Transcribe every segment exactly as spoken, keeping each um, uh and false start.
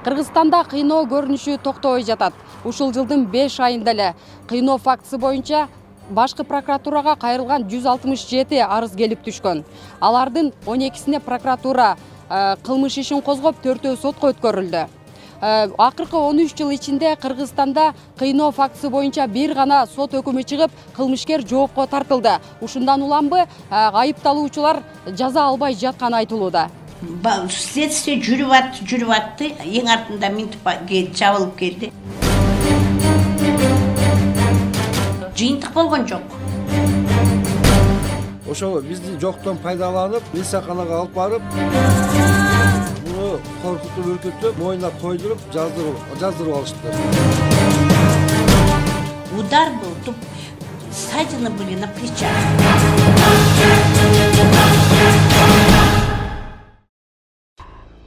Кыргызстанда кыйноо көрүнүшү токтобой жатат. Ушул жылдын беш айында эле кыйноо фактысы боюнча башкы прокуратурага кайрылган жүз алтымыш жети арыз келип түшкөн. Алардын он экисине прокуратура кылмыш ишин козгоп, төртөө сотко өткөрүлдү. Акыркы он үч жыл ичинде Кыргызстанда кыйноо фактысы боюнча бир гана сот өкүмү чыгып, кылмышкер жоопко тартылды. Ушундан уламбы айыпталуучулар жаза албай жатканы айтылууда. Следствие жүрүп атты, жүрүп атты, эң артында минтип жабылып келди. Жыйынтык болгон жок. Ошол бизди жоктон пайдаланып, милсаканага алып барып, муну коркутуп, үркүтүп, моюна койдуруп, жаздырып, жаздырып алыштыр. Удар был, тут ссадины были на плечах.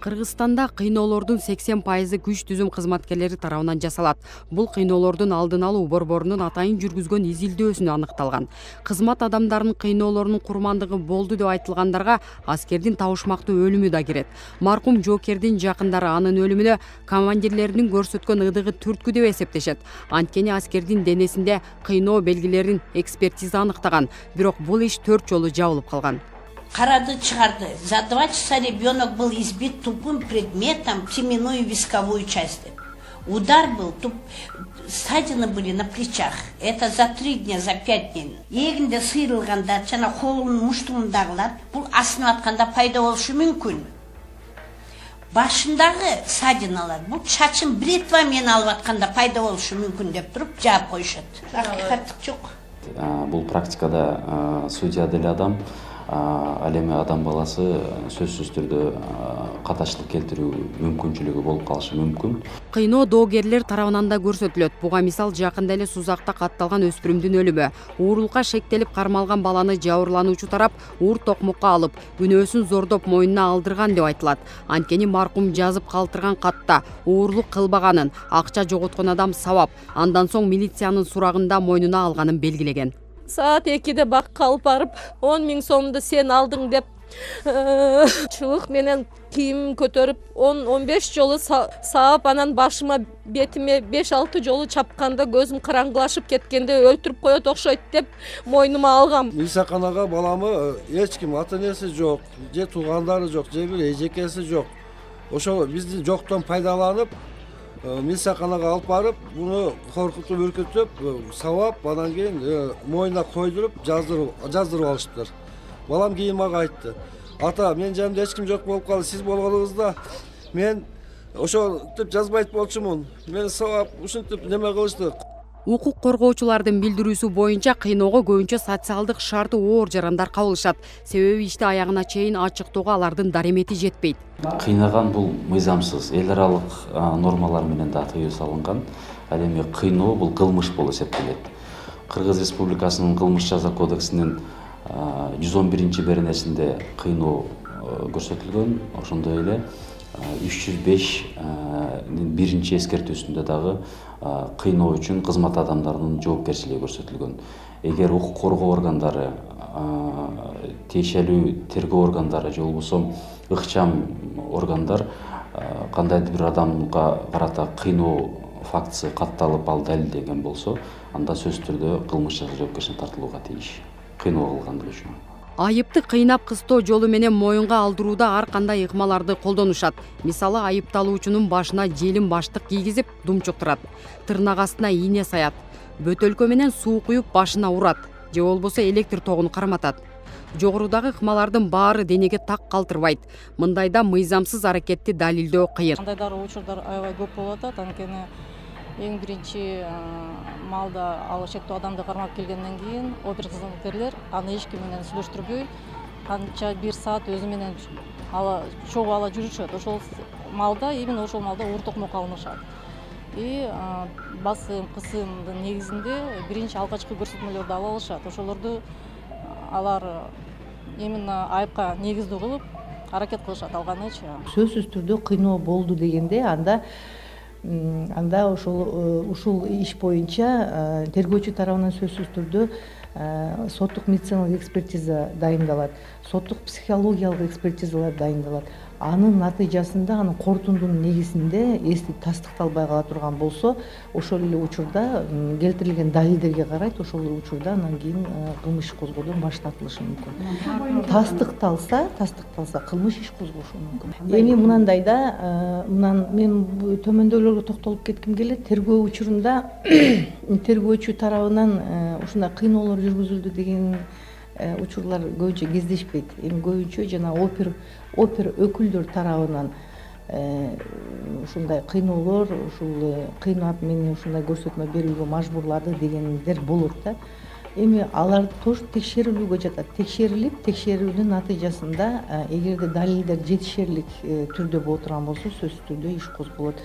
Кыргызстанда кыйноолордун сексен пайызы күч түзүм кызматкерлери тарабынан жасалат. Бул кыйноолордун алдын алуу борборунун атайын жүргүзгөн изилдөөсүнө аныкталган. Кызмат адамдарынын кыйноолорунун курмандыгы болду деп айтылгандарга аскердин табышмактуу өлүмү да кирет. Маркум жоокердин жакындары анын өлүмүнө командирлеринин көрсөткөн ыдыгы түрткү деп эсептешет. Анткени аскердин денесинде кыйноо белгилерин экспертиза аныктаган, бирок бул иш төрт жолу жабылып калган. Карады, чыгарды. За два часа ребенок был избит тупым предметом в теменную висковую часть. Удар был, туп... ссадины были на плечах. Это за три дня, за пять дней. Эгинде сыйрылганда, жана колунун муштугундагылар, бул асынып атканда пайда болушу мүмкүн. Башындагы ссадиналар, бул чачын бритва менен алып атканда пайда болушу мүмкүн деп туруп жаап коюшат. Акыйкаттык жок. Бул практикада судья деле адам, ал эми адам баласы сөзсүз түрдө каташтык келтирүү мүмкүнчүлүгү болуп калышы мүмкүн. Кыйноо доогерлер тарабынан да көрсөтүлөт. Буга мисал жакында эле Сузакта катталган өспүрүмдүн өлүмү. Уурулукка шектелип кармалган баланы жабырлануучу тарап уур токмокко алып, күнөөсүн зордоп мойнуна алдырган деп айтылат. Анткени маркум жазып калтырган катта уурлук кылбаганын, акча жоготкон адам сабап, андан соң милициянын сурагында мойнуна алганын белгилеген. Саат экиде бакка алып барып, он миң сомду сен алдың деп чыбык менен кийим көтөрүп, он он беш жолу саап, анан башыма, бетиме беш алты жолу чапканда көзүм караңгылашып кеткенде өлтүрүп коет окшойт деп мойнума алгам. Милсаканага баламы эч ким ата-энеси жок, же туугандары жок, же бир эжекеси жок. Ошол бизди жоктон пайдаланып, милсаканага алып барып, буну коркутуп, үркүтүп, сабап, андан кийин моюна койдуруп, жаздырып, жаздырып алыштыр. Балам кийин мага айтты: "Ата, менин жанымда эч ким жок болуп калды, сиз болгонуңузда мен ошентип жазбайт болчумун. Мени сабап, ушинтип неме кылышты." Укук коргоочулардын билдирүүсү боюнча кыйноого көбүнчө социалдык шарты оор жарандар кабылышат. Себеби ишти аягына чейин ачыктоого алардын даремети жетпейт. Кыйнаган бул мыйзамсыз, эл аралык нормалар менен да тыюу салынган. Ал эми кыйноо бул кылмыш болуп эсептелет. Кыргыз Республикасынын кылмыш жаза кодексинин жүз он биринчи беренесинде кыйноо көрсөтүлгөн. Ошондой эле үч жүз бештин биринчи эскертүүсүндө дагы кыйноо үчүн кызмат адамдарынын жоопкерчилиги көрсөтүлгөн. Эгер укук коргоо органдары, тиешелүү тергөө органдары же болбосо ыкчам органдар кандайдыр бир адамга карата кыйноо фактысы катталып, ал далилденген болсо, анда сөзсүз түрдө кылмыш жаза жоопкерчиликке тартылууга тийиш. Кыйноо кылгандыгы үчүн. Айыпты кыйнап кыстоо жолу менен моюнга алдырууда ар кандай ыкмаларды колдонушат. Мисалы, айыпталуучунун башына желим баштык кийгизип, думчуктурат. Тырнак астына ийне саят. Бөтөлкө менен суу куюп башына урат, же болбосо электр тогун карматат. Жогорудагы ыкмалардын баары денеге так калтырбайт. Мындайда мыйзамсыз аракетти далилдөө кыйын. Кандайдыр учурдар аябай көп болуп атат, анткени эң биринчи малда ал шектүү адамды кармап келгенден кийин опер кызматкерлер аны эч ким менен сүйлөштүрбөй, канча бир саат өзү менен ала чогуу ала жүрүшөт. Ошол малда, именно ошол малда уур токмок алынышат. И басым, кысымдын негизинде биринчи алгачкы көрсөтмөлөрдү ала алышат. Ошолорду алар именно айыпка негиздүү кылып аракет кылышат алганычы. Сөзсүз түрдө кыйноо болду дегенде анда анда ошол ушул иш боюнча тергөөчү тарабынан сөзсүз түрдө соттук медициналык экспертиза дайындалат, соттук психологиялык экспертизалар дайындалат. анын натыйжасында анын корутундунун негизинде эстик тастыкталбай кала турган болсо, ошол эле учурда келтирилген далилдерге карайт, ошол эле учурда анан кийин кылмыш иш козгоодон баш тартылышы мүмкүн. Тастыкталса, тастыкталса кылмыш иш козголушу мүмкүн. Эми мынандай да, мынан мен төмөндөөлөргө токтолуп кетким келет. Тергөө учурунда тергөөчү тарабынан ушундай кыйноолор жүргүзүлдү деген учурлар көбүнчө кездешпейт. Эми көбүнчө жана опер опер өкүлдөр тарабынан ушундай кыйноолор, ушул кыйнап мени ушундай көрсөтмө берүүгө мажбурлады дегендер болот да. Эми алар тоже текшерилүүгө жатат. Текшерилип, текшерүүнүн натыйжасында эгерде далилдер жетишерлик түрдө боло турган болсо, сөзсүз түрдө иш козголот.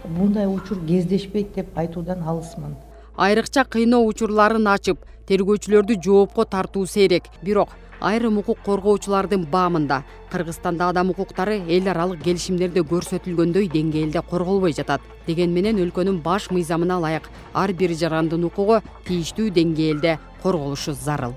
Мындай учур кездешпейт деп айтуудан алысмын. Айрыкча кыйноо учурларын ачып, тергөөчүлөрдү жоопко тартуу сейрек. Бирок айрым укук коргоочулардын баамында Кыргызстанда адам укуктары эл аралык келишимдерде көрсөтүлгөндөй деңгээлде корголбой жатат. Деген менен өлкөнүн баш мыйзамына ылайык ар бир жарандын укугу тийиштүү деңгээлде корголушу зарыл.